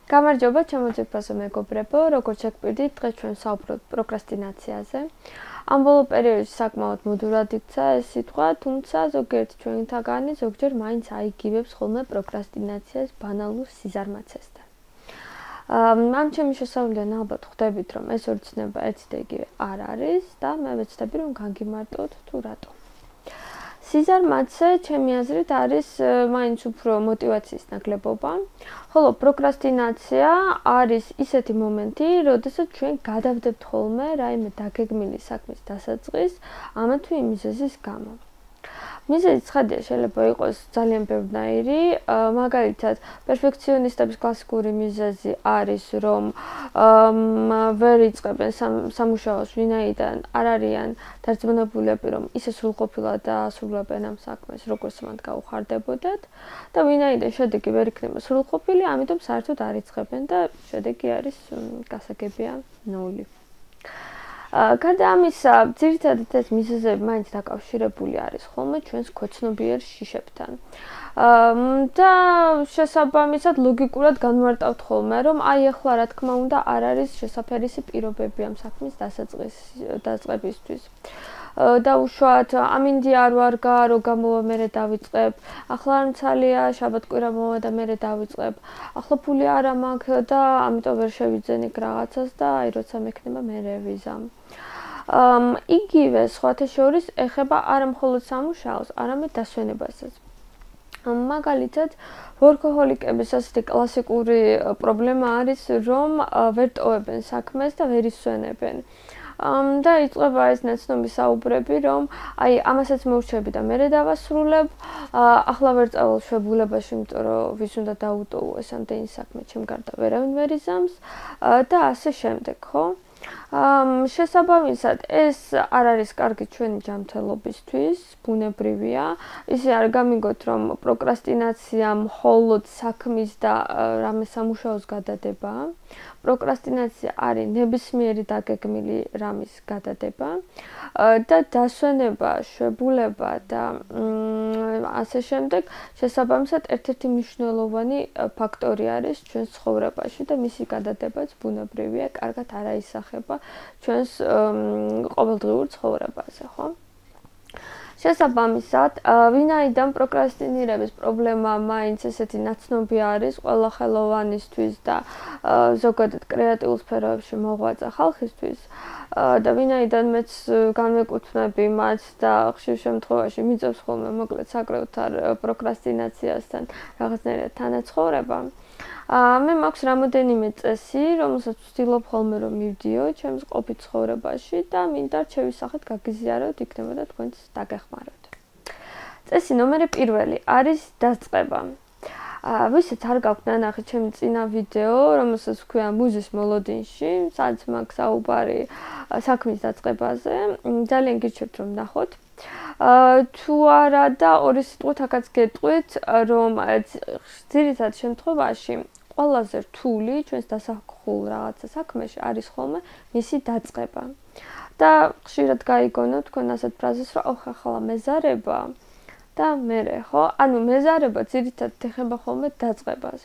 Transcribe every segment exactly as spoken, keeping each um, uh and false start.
გამარჯობა, ჩემოწიფასო მეგობრებო, როგორც შეგვიყვარდით, დღეს ჩვენ საუბრობთ პროკრასტინაციაზე. ამ ბოლო პერიოდში საკმაოდ მოდურად იქცა ეს სიტყვა, თუმცა ზოგიერთი ჩვენთაგანი ზოგჯერ მაინც აიგივებს ხოლმე პროკრასტინაციას ბანალურ სიზარმაცესთან. ამ ჩემი შესავლიდან ალბათ ხვდებით, რომ ეს ორი ცნება ერთი და იგივე არ არის და მე ვეცდები, რომ განგიმარტოთ თუ რატო. სიზარმაცე, ჩემი აზრით, არის მაინც უფრო მოტივაციის ნაკლებობა, ხოლო პროკრასტინაცია არის ისეთი მომენტი, როდესაც ჩვენ გადავდებთ ხოლმე რაიმე დაგეგმილი საქმის დასაწყისს ამა თუ იმ მიზეზის გამო. მიზეზი ცხადია, შეიძლება იყოს ძალიან ბევრნაირი, მაგალითად, პერფექციონისტების კლასიკური მიზეზი არის, რომ ვერ იწყებენ სამუშაოს, ვინაიდან არ არიან დარწმუნებულები, რომ ისე სრულყოფილად დაასრულებენ ამ საქმეს, როგორც მათ გაუხარდებოდათ და ვინაიდან შედეგი ვერ იქნება სრულყოფილი, ამიტომ საერთოდ არ იწყებენ და შედეგი არის გასაგებია ნული. გარდა ამისა, ძირითადად ეს მიზეზები მაინც დაკავშირებული არის ხოლმე ჩვენს ქვეცნობიერ შიშებთან. და შესაბამისად ლოგიკურად განმარტავთ ხოლმე, რომ აი ახლა რა თქმა უნდა არ არის შესაფერისი პირობები ამ საქმის დასაწყისისთვის. და უშუალოდ ამინდი არ ვარგა, რო გამოვა მერე დავიწყებ. ახლა არ მცალია, შაბათ-კვირა მოვა და მერე დავიწყებ. ახლა ფული არა მაქვს და ამიტომ ვერ შევიძენ იქ რაღაცას და აი როცა მექნება მერე ვიზამ. იგივე სხვათა შორის ეხება არა მხოლოდ სამუშაოს, არამედ დასვენებასაც. მაგალითად, ვორქოჰოლიკების ასეთი კლასიკური პრობლემა არის, რომ ვერ ტოვებენ საქმეს და ვერ ისვენებენ. და იწყება ეს ნაცნობი საუბრები, რომ აი ამასაც მოვჩები და მერე დავასრულებ, ახლა ვერ წავალ შვებულებაში, იმიტომ რომ ვის უნდა დაუტოვო ეს ამდენი საქმე, ჩემ გარდა ვერავინ ვერ იზამს და ასე შემდეგ, ხო? შესაბამისად, ეს არ არის კარგი ჩვენი ჯანმრთელობისთვის, ბუნებრივია. ისე არ გამიგოთ, რომ პროკრასტინაცია მხოლოდ საქმის და რამე სამუშაოს გადადებაა. პროკრასტინაცია არის ნებისმიერი დაგეგმილი რამის გადადება და დასვენება, შვებულება და ასე შემდეგ, შესაბამისად ერთ-ერთი მნიშვნელოვანი ფაქტორი არის ჩვენს ცხოვრებაში და მისი გადადებაც ბუნებრივია, კარგად არ აისახება ჩვენს ყოველდღიურ ცხოვრებაზე, ხო? შესაბამისად, ვინაიდან პროკრასტინირების პრობლემა მაინც ესეთი ნაცნობი არის ყველა ხელოვანისთვის და ზოგადად კრეატიულ სფეროებში მოღვაწე ხალხისთვის და ვინაიდან მეც განვეკუთვნები მათ და ხშირ შემთხვევაში მიწევს ხოლმე მოკლედ საკრევთან პროკრასტინაციასთან რაღაცნაირად თანაცხოვრება. მე მაქვს რამოდენიმე წესი, რომელსაც ვცდილობ ხოლმე რომ მივდიო ჩემს ყოფით ცხოვრებაში და მინდა რჩევის სახით გაგიზიაროთ, იქნებოდა თქვენც დაგეხმაროთ. წესი ნომერი პირველი არის დაწყება. ვისაც არ გაქვთ ნანახი ჩემი წინა ვიდეო, რომელსაც ვქვია მუზის მოლოდინში, სადაც მაქვს საუბარი საქმის დაწყებაზე, ძალიან გირჩევთ რომ ნახოთ. თუ არა და ორი სიტყვით აქაც გეტყვით, რომ ძირითად შემთხვევაში ყველაზე რთული ჩვენს დასახულ რაღაცა საქმეში არის ხოლმე მისი დაწყება. და ხშირად გაიგონო თქვენ ასეთ ფრაზას, რომ ოხ ახლა მეზარება და მერე, ხო? ანუ მეზარება ძირითადად ეხება ხოლმე დაწყებას.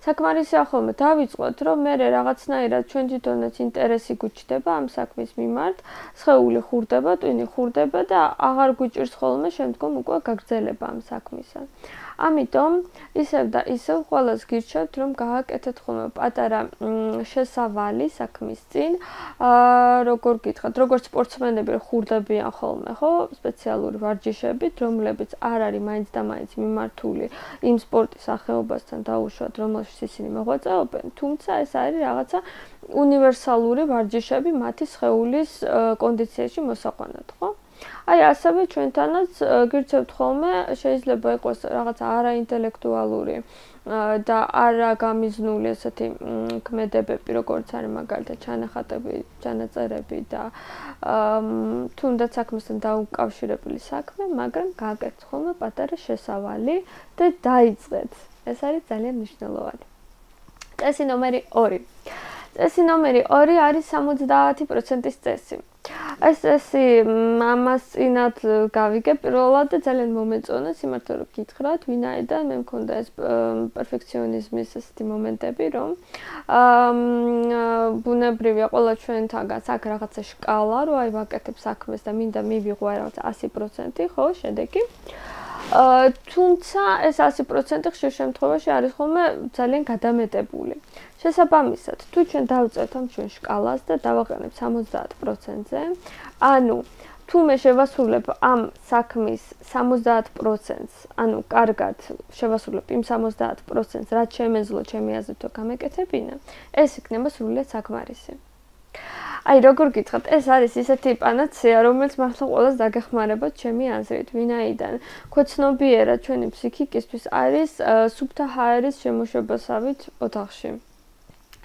საკმარისია ხოლმე დავიწყოთ, რომ მერე რაღაცნაირად ჩვენ თვითონაც ინტერესი გვიჩნდება ამ საქმის მიმართ, სხეული ხურდება, ტვინი ხურდება და აღარ გვიჭირს ხოლმე შემდგომ უკვე გაგრძელება ამ საქმისა. ამიტომ ისევ და ისევ ყველას გირჩევთ, რომ გააკეთეთ ხოლმე პატარა შესავალი საქმის წინ. როგორ გითხრათ, როგორც სპორტსმენები ხურდებიან ხოლმე, ხო, სპეციალური ვარჯიშებით, რომლებიც არ არის მაინც და მაინც მიმართული იმ სპორტის სახეობასთან დაუშვათ, რომელშიც ისინი მოღვაწეობენ, თუმცა ეს არის რაღაცა უნივერსალური ვარჯიშები მათი სხეულის კონდიციაში მოსაყვანად, ხო? აი ასევე ჩვენთანაც გირჩევთ ხოლმე, შეიძლება იყოს რაღაცა არაინტელექტუალური და არა გამიზნული ესეთი ქმედებები, როგორც არის მაგალითად ჩანახატები, ჩანაწერები და თუნდაც საქმესთან დაუკავშირებელი საქმე, მაგრამ გააკეთეთ ხოლმე პატარა შესავალი და დაიწყეთ. ეს არის ძალიან მნიშვნელოვანი. წესი ნომერი ორი. წესი ნომერი ორი არის სამოცდაათი პროცენტის წესი. ეს წესი მამას წინათ გავიგე პირველად და ძალიან მომეწონა სიმართლე რომ გითხრათ, ვინაიდან მე მქონდა ეს პერფექციონიზმის ასეთი მომენტები, რომ აა ბუნებრივია ყველა ჩვენთაგანს აქ რაღაცა შკალა, რომ აი ვაკეთებ საქმეს და მინდა მივიღო რაღაცა ასი პროცენტი, ხო, შედეგი. აა თუმცა ეს ასი პროცენტი ხშირ შემთხვევაში არის ხოლმე ძალიან გადამეტებული. შესაბამისად, თუ ჩვენ დავწერთ ამ ჩვენ შკალას და დავაყენებთ სამოცდაათ პროცენტზე, ანუ თუ მე შევასრულებ ამ საქმის სამოცდაათ პროცენტს, ანუ კარგად შევასრულებ იმ სამოცდაათ პროცენტს, რაც შემეძლო ჩემი აზრით თუ გამეკეთებინა, ეს იქნება სრულიად საკმარისი. აი, როგორ გითხრათ, ეს არის ისეთი პანაცეა, რომელიც მართლა ყველას დაგეხმარებათ ჩემი აზრით, ვინაიდან ქვეცნობიერად ჩვენი ფსიქიკისთვის არის სუფთა ჰაერის შემოშობასავით ოთახში.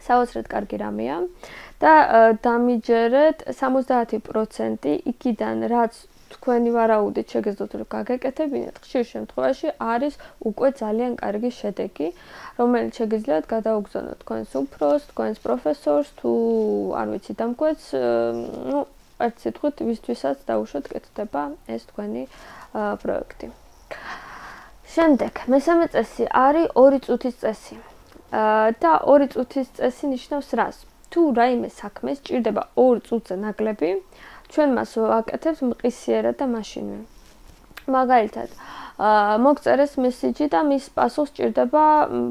საოცრად კარგი რამეა და დამიჯერეთ სამოცდაათი პროცენტი იქიდან, რაც თქვენი ვარაუდით შეგეძლოთ რომ გაგეკეთებინეთ, ხშირ შემთხვევაში არის უკვე ძალიან კარგი შედეგი, რომელიც შეგიძლიათ გადაუგზავნოთ თქვენს უფროსს, თქვენს პროფესორს, თუ არ ვიცი დამკვეთს, ну, ერთ სიტყვით, ვისთვისაც დაუშვათ კეთდება ეს თქვენი პროექტი. შემდეგ, მესამე წესი არის ორი წუთის წესი. და ორი წუთის წესი ნიშნავს რას? თუ რაიმე საქმე სჭირდება ორ წუთზე ნაკლები, ჩვენ მას ვაკეთებთ მყისიერად და მაშინვე. მაგალითად, მოგწერეს მესიჯი და მის პასუხს სჭირდება,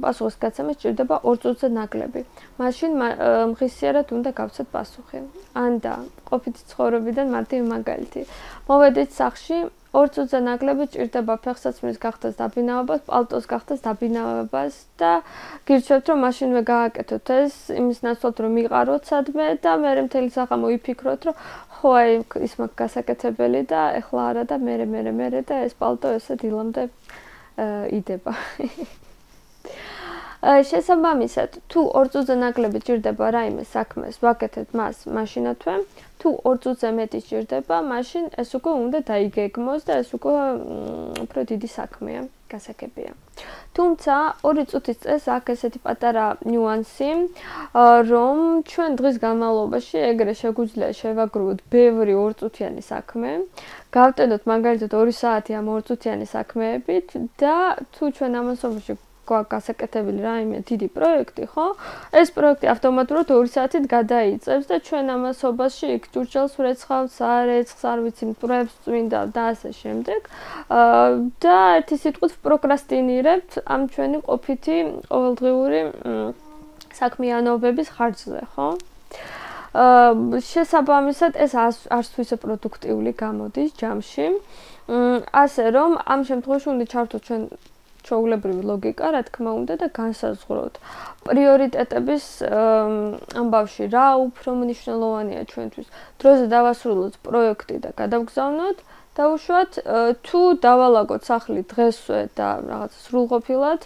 პასუხის გაცემა სჭირდება ორ წუთზე ნაკლები. მაშინ მყისიერად უნდა გავცეთ პასუხი. ან და ყოფითი ცხოვრებიდან მარტივი მაგალითი. მოვედით სახლში, ორ წუთზე ნაკლები სჭირდება ფეხსაცმლის გახდას დაბინავებას, პალტოს გახდას დაბინავებას და გირჩევთ რომ მაშინვე გააკეთოთ ეს იმის ნაცვლად რომ მიყაროთ სადმე და მე მთელი საღამო ვიფიქროთ რომ ხო აი ის მაგ გასაკეთებელი და ეხლა არა და მე მე მე და ეს პალტო ესე დილამდე იდება. შესაბამისად, თუ ორ წუთზე ნაკლები სჭირდება რაიმე საქმეს, ვაკეთებთ მას მაშინათვე, თუ ორ წუთზე მეტი სჭირდება, მაშინ ეს უკვე უნდა დაიგეგმოს და ეს უკვე უფრო დიდი საქმეა, გასაგებია. თუმცა, ორი წუთის წესს აქვს ესეთი პატარა ნიუანსი, რომ ჩვენ დღის განმავლობაში ეგრე შეგვიძლია შევაგროვოთ ბევრი ორწუთიანი საქმე, გავტენოთ მაგალითად ორი საათი ამ ორწუთიანი საქმეებით და თუ ჩვენ ამასობაში გასაკეთებელი რაიმე დიდი პროექტი, ხო? ეს პროექტი ავტომატურად ორი საათით გადაიწევს და ჩვენ ამასობაში იქ ჭურჭელს ვრეცხავთ, სარეცხს, არ ვიცი, მტვრებს წვინდა და ასე შემდეგ. და ერთი სიტყვით პროკრასტინირებთ ამ ჩვენი ყოფითი ყოველდღიური საქმიანობების ხარჯზე, ხო? შესაბამისად, ეს არც თუ ისე პროდუქტიული გამოდის ჯამში. ასე რომ, ამ შემთხვევაში უნდა ჩავთვალოთ ჩვენ ჩვეულებრივი ლოგიკა, რა თქმა უნდა და განსაზღვროთ პრიორიტეტების ამბავში რა უფრო მნიშვნელოვანია ჩვენთვის. დროზე დავასრულოთ პროექტი და გადავგზავნოთ, დაუშვათ თუ დავალაგოთ სახლი დღესვე და რაღაც სრულყოფილად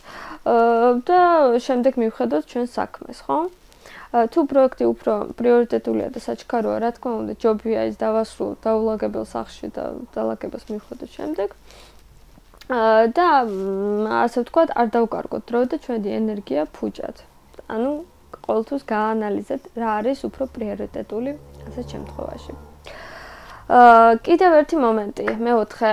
და შემდეგ მივხედოთ ჩვენ საქმეს, ხო? თუ პროექტი უფრო პრიორიტეტულია და საჩქაროა, რა თქმა უნდა, ჯობია ის დავასრულოთ დაულაგებელ სახლში და დალაგებას მივხედოთ შემდეგ. და ასე ვთქვათ, არ დავკარგოთ დრო და ჩვენი ენერგია ფუჭად. ანუ ყოველთვის გაანალიზეთ რა არის უფრო პრიორიტეტული ასეთ შემთხვევაში. კიდევ ერთი მომენტი, მეოთხე,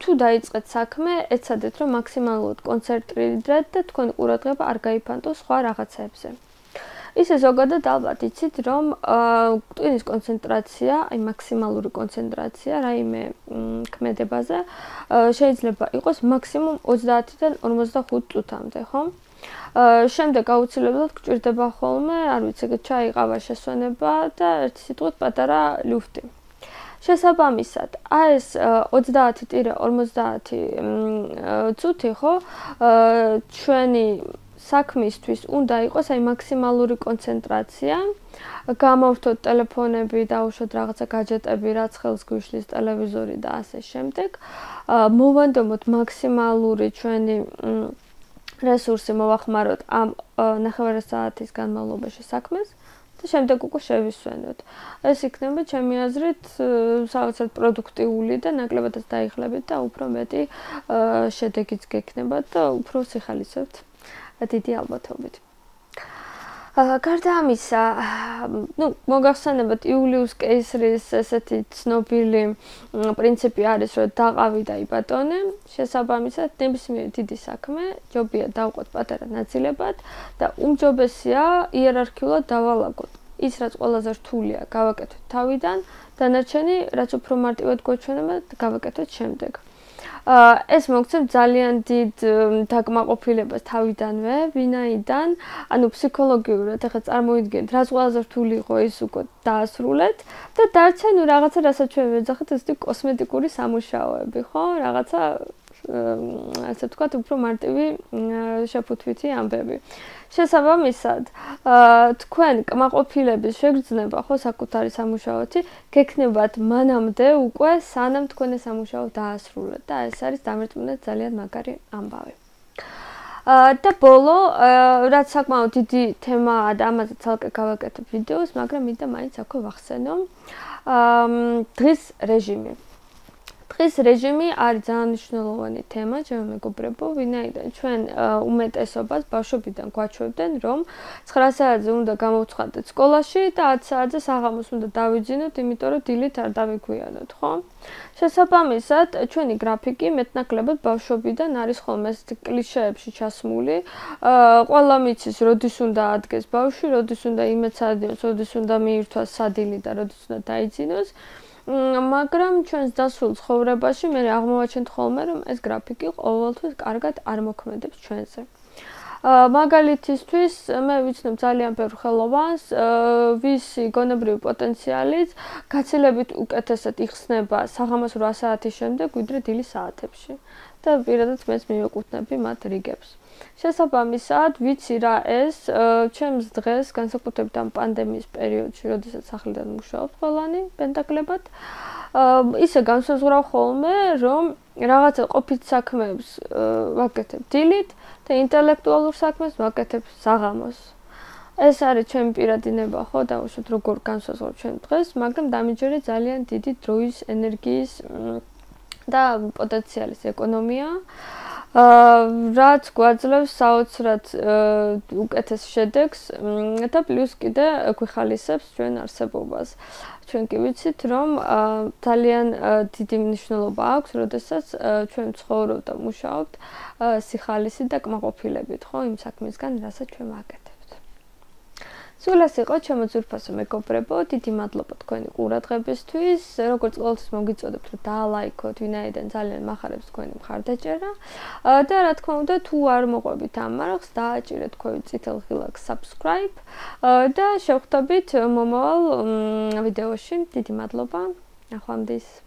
თუ დაიწყეთ საქმე, ეცადეთ რომ მაქსიმალურად კონცენტრირდეთ და თქვენი ყურადღება არ გაიფანტოს სხვა რაღაცებზე. ისე ზოგადად ალბათ იცით, რომ ტვინის კონცენტრაცია, აი მაქსიმალური კონცენტრაცია რაიმე ქმედებაზე შეიძლება იყოს მაქსიმუმ ოცდაათიდან ორმოცდახუთ წუთამდე, ხო? შემდეგ აუცილებლად გჭირდება ხოლმე, არ ვიცი, ჩაიყავა შესვენება და ერთი სიტყვით პატარა ლუფტი. შესაბამისად, აი ეს ოცდაათი ორმოცდაათი წუთი, ხო? ჩვენი საქმისთვის უნდა იყოს აი მაქსიმალური კონცენტრაცია, გამოვთოთ ტელეფონები, დაუშვათ რაღაცა გაჯეტები, რაც ხელს გვიშლის ტელევიზორი და ასე შემდეგ. მოვანდომოთ მაქსიმალური ჩვენი რესურსი მოვახმაროთ ამ ნახევარი საათის განმავლობაში საქმეს და შემდეგ უკვე შევისვენოთ. ეს იქნება ჩემი აზრით საოცრად პროდუქტიული და ნაკლებადაც დაიხლებით და უფრო მეტი შედეგიც გექნებათ და უფრო სიხალისებთ. დიდი ალბათობით. გარდა ამისა, ну, მოგახსენებათ იულიუს კეისრის ესეთი ცნობილი პრინციპი არის, რომ დაყავი და იბატონე, შესაბამისად, ნებისმიერი დიდი საქმე ჯობია დავყოთ პატარა ნაწილებად და უმჯობესია იერარქიულად დავალაგოთ. ის, რაც ყველაზე რთულია, გავაკეთოთ თავიდან, დანარჩენი, რაც უფრო მარტივად გვაჩვენება, გავაკეთოთ შემდეგ. ეს მოგცემ ძალიან დიდ დაკმაყოფილებას თავიდანვე, ვინაიდან, ანუ ფსიქოლოგიურად ახლა წარმოიდგინეთ, რაც ყველაზე რთული იყო ის უკვე დაასრულეთ და დარჩა ნუ რაღაცა, რასაც ჩვენ ვეძახით, ესეთი კოსმეტიკური სამუშაოები, ხო? რაღაცა ასე ვთქვათ, უფრო მარტივი შეფუთვითი ამბები. შესაბამისად, თქვენ კმაყოფილების შეგრძნება, ხო, საკუთარი სამუშაოთი, გექნებათ მანამდე უკვე სანამ თქვენ ეს სამუშაო დაასრულეთ და ეს არის დამერწმუნდეთ ძალიან მაგარი ამბავი. და ბოლო, რაც საკმაოდ დიდი თემაა და ამაზე ცალკე გავაკეთებ ვიდეოს, მაგრამ მინდა მაინც აქვე ვახსენო. დღის რეჟიმი. დღის რეჟიმი არის ძალიან მნიშვნელოვანი თემა, ჩემო მეგობრებო, ვინაიდან ჩვენ უმეტესობას ბავშვობიდან გვაჩვევდნენ, რომ ცხრა საათზე უნდა გამოვცხადდეთ სკოლაში და ათ საათზე საღამოს უნდა დავიძინოთ, იმიტომ რომ დილით არ დავიგვიანოთ, ხო? შესაბამისად, ჩვენი გრაფიკი მეტნაკლებად ბავშვობიდან არის ხოლმე ესეთი კლიშეებში ჩასმული. ყველა მიცის, როდის უნდა ადგეს ბავშვი, როდის უნდა იმეცადიოს, როდის უნდა მიირთვას სადილი და როდის უნდა დაიძინოს. მაგრამ ჩვენს დასულ ცხოვრებაში მე აღმოვაჩენთ ხოლმე, რომ ეს გრაფიკი ყოველთვის კარგად არ მოქმედებს ჩვენზე. მაგალითისთვის მე ვიცნობ ძალიან ბევრ ხელოვანს, ვისი გონებრივი პოტენციალიც გაცილებით უკეთესად იხსნება საღამოს რვა საათის შემდეგ, ვიდრე დილის საათებში. და პირადად მეც მივეკუთვნები მათ რიგებს. შესაბამისად, ვიცი რა ეს ჩემს დღეს, განსაკუთრებით ამ პანდემიის პერიოდში, როდესაც სახლიდან მუშაობ ყველანი პენტაკლებად, ისე განსაზღვრავ ხოლმე, რომ რაღაცა ყოფით საქმეებს ვაკეთებ დილით და ინტელექტუალურ საქმეს ვაკეთებ საღამოს. ეს არის ჩემი პირადი ნება, ხო, დავუშვათ როგორ განსაზღვრავ ჩვენ დღეს, მაგრამ დამიჯერე ძალიან დიდი დროის, ენერგიის და პოტენციალის ეკონომია. რაც გვაძლევს საოცრად უკეთეს შედეგს და პლუს კიდე გვიხალისებს ჩვენ არსებობას. ჩვენ კი ვიცით, რომ ძალიან დიდი მნიშვნელობა აქვს, როდესაც ჩვენ ცხოვრობ და მუშაობთ სიხალისი და კმაყოფილებით, ხო, იმ საქმისგან, რასაც ჩვენ ვაკეთებთ. სულ ეს იყო ჩემო ძვირფასო მეგობრებო, დიდი მადლობა თქვენი ყურადღებისთვის. როგორც ყოველთვის მოგიწოდებთ, რომ დაალაიქოთ, ვინაიდან ძალიან მახარებს თქვენი მხარდაჭერა. და რა თქმა უნდა, თუ არ მოყვებით ამ არხს, დააჭირეთ თქვენ წითელ ღილაკს subscribe და შევხვდებით მომავალ ვიდეოში. დიდი მადლობა. ნახვამდის.